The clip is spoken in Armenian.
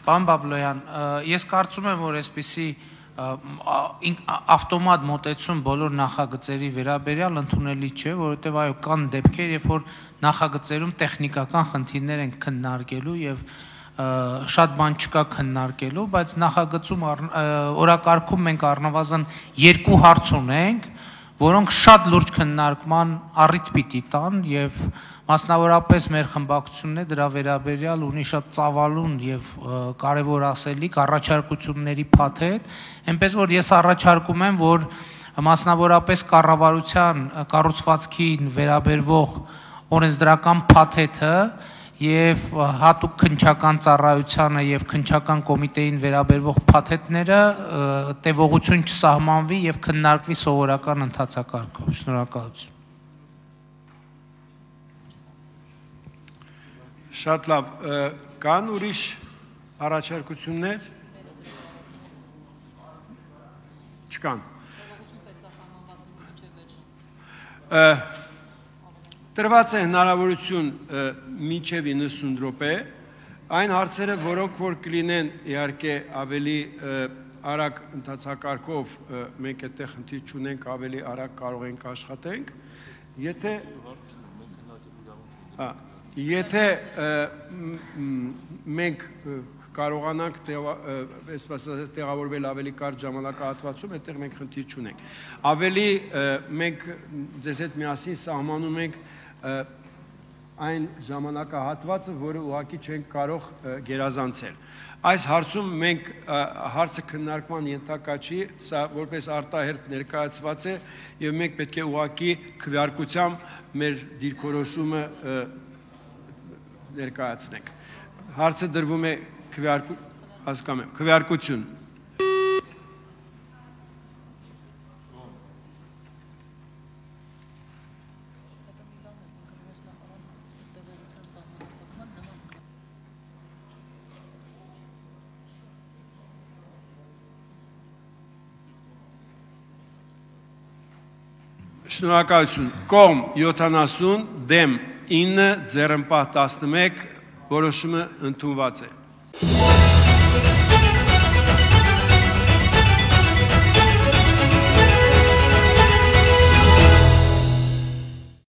Պարոն Բաբլոյան, ես կարծում եմ, որ այսպիսի ավտոմատ մոտեցում բոլոր նախագծերի վերաբերյալ ընդունելի չէ, որովհետև այո կան դեպքեր, երբ որ նախագծերում տեխնիկական խնդիրներ են քննարկելու եւ շատ բան չկա քննարկելու, բայց նախագծում օրակարգում մենք առնվազն 2 հարց ունենք, որոնք շատ լուրջ քննարկման առիթ պիտի տան եւ մասնավորապես մեր խմբակցությունն է դրա վերաբերյալ ունի շատ ծավալուն եւ կարեւոր ասելիք առաջարկությունների փաթեթ, այնպես որ ես առաջարկում եմ, որ մասնավորապես կառավարության կառուցվածքին վերաբերվող օրենսդրական փաթեթը եւ հատուկ քննչական ծառայությանը եւ քննչական կոմիտեին վերաբերվող փաթեթները տևողություն չսահմանվի եւ քննարկվի սովորական ընթացակարգով։ Շնորհակալություն։ Շատ լավ, կան ուրիշ առաջարկություններ։ Չկան։ Տրված է հնարավորություն մինչև 90 րոպե, այն հարցերը, որոնք որ կլինեն իհարկե ավելի արագ ընթացակարգով, մենք այդտեղ խնդիր չունենք, ավելի արագ կարող ենք աշխատենք, եթե մենք կարողանանք տեղավորվել ավելի կարճ ժամանակահատվածում, այդտեղ մենք խնդիր չունենք։ Ավելի մենք ձեզ հետ միասին սահմանում ենք այն ժամանակահատվածը, որը ուղղակի չենք կարող գերազանցել։ Այս հարցում մենք հարցը քննարկման ենթակա չի, սա որպես արտահերթ ներկայացված է եւ մենք պետք է ուղղակի քվեարկությամբ մեր դիրքորոշումը ներկայացնենք։ Հարցը դրվում է քվեարկություն։ Շնորհակալություն։ Կողմ 70, դեմ 9, ձեռնպահ 11, որոշումը ընդունված է։